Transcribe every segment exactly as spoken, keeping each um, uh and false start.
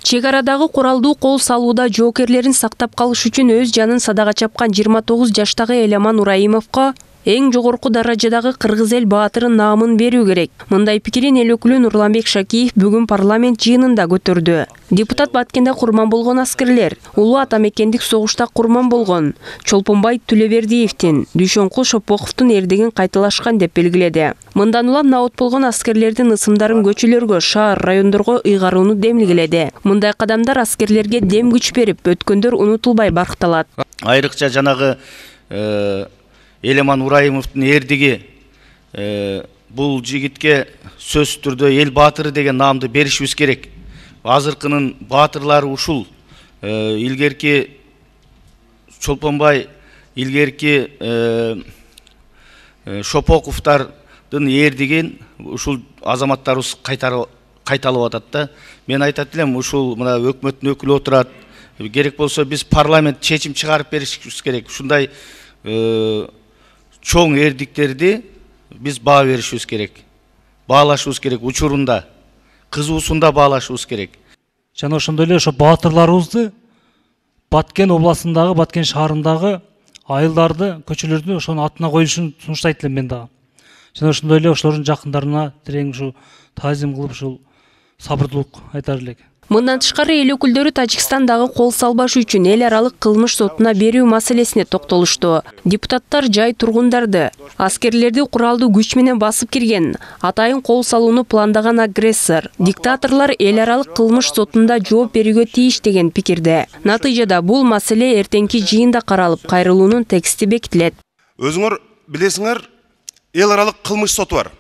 Чек арадагы куралдуу кол салууда жоокерлерин сактап калыш үчүн өз жанын садага чапкан жыйырма тогуз жаштагы Эламан Ураимовго эң жогорку даражадагы кыргыз эл баатыры наамын берүү керек. Мындай пикирин эл өкүлү Нурланбек Шакиев бүгүн парламент жыйынында көтөрдү. Депутат Баткенде курман болгон аскерлер, улуу атамекендик согушта курман болгон Чолпонбай Түлөбердиевдин, Дүйшөнкул Шопоковдун эрдигин кайталашкан деп белгиледи. Мындан улам наот болгон аскерлердин ысымдарын көчөлөргө, шаар, райондорго ыйгарууну демилгеледи. Мындай кадамдар аскерлерге дем күч берип, өткөндөр унутулбай баркталат. Айрыкча жанагы Эламан Ураимовдун эрдиги бул жигитке сөзсүз түрдө эл баатыры деген наамды беришибиз керек. Азыркынын баатырлары ушул. Илгерки Чолпонбай, илгерки Шопоковдардын эрдигин ушул азаматтарыбыз кайталып атат да. Мен айтат элем, ушул мына өкмөттүн өкүлү отурат. Керек болсо биз парламент чечим чыгарып беришибиз керек. Ушундай чоң эрдиктерди биз баа беришибиз керек. Баалашыбыз керек учурунда, кызуусунда баалашыбыз керек. Жана ошондой эле ошо баатырларыбызды Баткен областындагы, Баткен шаарындагы айылдарды, көчөлөрдү ошонун атына коюшун сунуштайт элем мен дагы. Жана ошондой эле ошолордун жакындарына терең ушу таазим кылып ушул сабырдуулук айтар элек. Мындан тышкары эл өкүлдөрү Тажикстандагы кол салбаш үчүн эл аралык кылмыш сотуна берүү маселесине токтолушту. Депутаттар жай тургундарды, аскерлерди куралдуу күч менен басып кирген, атайын кол салууну пландаган агрессор, диктаторлор эл аралык кылмыш сотунда жооп берүүгө тийиш деген пикирде. Натыйжада бул маселе эртеңки жыйында каралып, кайрылуунун тексти бекитилет. Өзүңөр билесиңер, эл аралык кылмыш соту бар.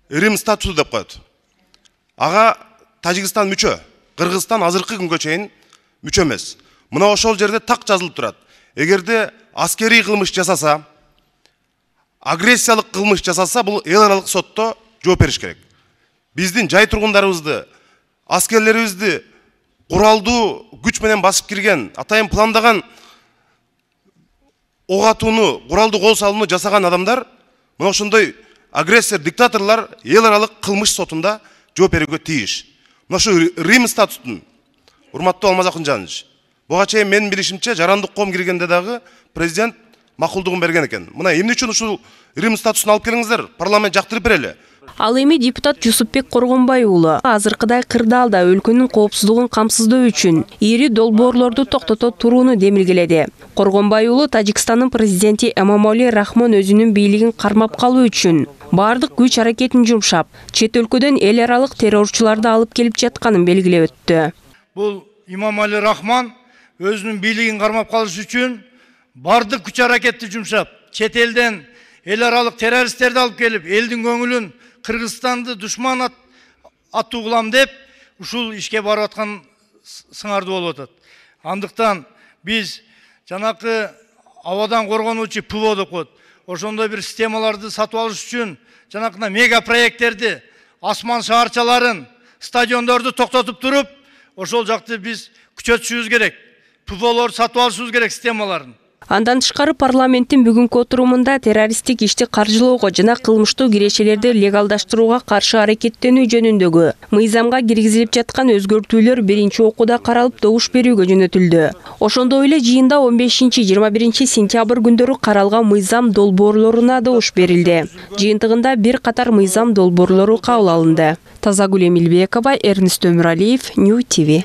Рим статусу деп коет. Ага Тажикстан мүчө, Кыргызстан азыркы күнгө чейин мүчө эмес. Мына ошол жерде так жазылып турат. Эгерде аскерий кылмыш жасаса, агрессиялык кылмыш жасаса, бул эл аралык сотто жооп бериш керек. Биздин жай тургундарыбызды, аскерлерибизди куралдуу күч менен басып кирген, атайын пландаган ок атууну, куралдуу кол салууну жасаган адамдар, мына ошондой агрессор, диктаторлор эл аралык кылмыш сотунда жооп берүүгө тийиш. Мына ушу Рим статутун, урматтуу Алмаз Акынжанович, буга чейин менин билишимче жарандык коом киргенде дагы президент макулдугун берген экен. Мына эмне үчүн ушул Рим статусун алып келиңиздер, парламент жактырып берели. Ал эми депутат Жусупбек Коргонбай уулу азыркыдай кырдаалда өлкөнүн коопсуздугун камсыздоо үчүн ири долбоорлорду токтото турууну демилгеледи. Коргонбай уулу Тажикстандын президенти Эмомали Рахмон өзүнүн бийлигин кармап калуу үчүн бардык күч аракетин жумшап, чет өлкөдөн эл аралык террорчуларды алып келип жатканын белгилеп өттү. Бул Эмомали Рахмон өзүнүн бийлигин кармап калыш үчүн бардык күч аракетти жумшап, чет элден эл аралык террористтерди алып келип, элдин көңүлүн Кыргызстанды душман аттуу кылам деп, ушул ишке барып аткан сыңардуу болуп атат. Андыктан биз жанакы абадан коргонуучу ПВО деп коет. Ошондой бир системаларды сатып алыш үчүн жанакына мега проекттерди, асман шаарчаларын, стадиондорду токтотуп туруп, ошол жакты биз күчөтүшүбүз керек. ПВОлор сатып алышыбыз керек системаларын. Андан тышкары парламенттин бүгүнкү отурумунда террористтик ишти каржылоого жана кылмыштуу кирешелерди легалдаштырууга каршы аракеттенүү жөнүндөгү мыйзамга киргизилип жаткан өзгөртүүлөр биринчи окууда каралып добуш берүүгө жөнөтүлдү. Ошондой эле жыйында он бешинчи жыйырма биринчи сентябрь күндөрү каралган мыйзам долбоорлоруна добуш берилди. Жыйынтыгында бир катар мыйзам долбоорлору кабыл алынды. Тазагүл Эмилбекова, Эрнест Өмүралиев, Нью ти ви.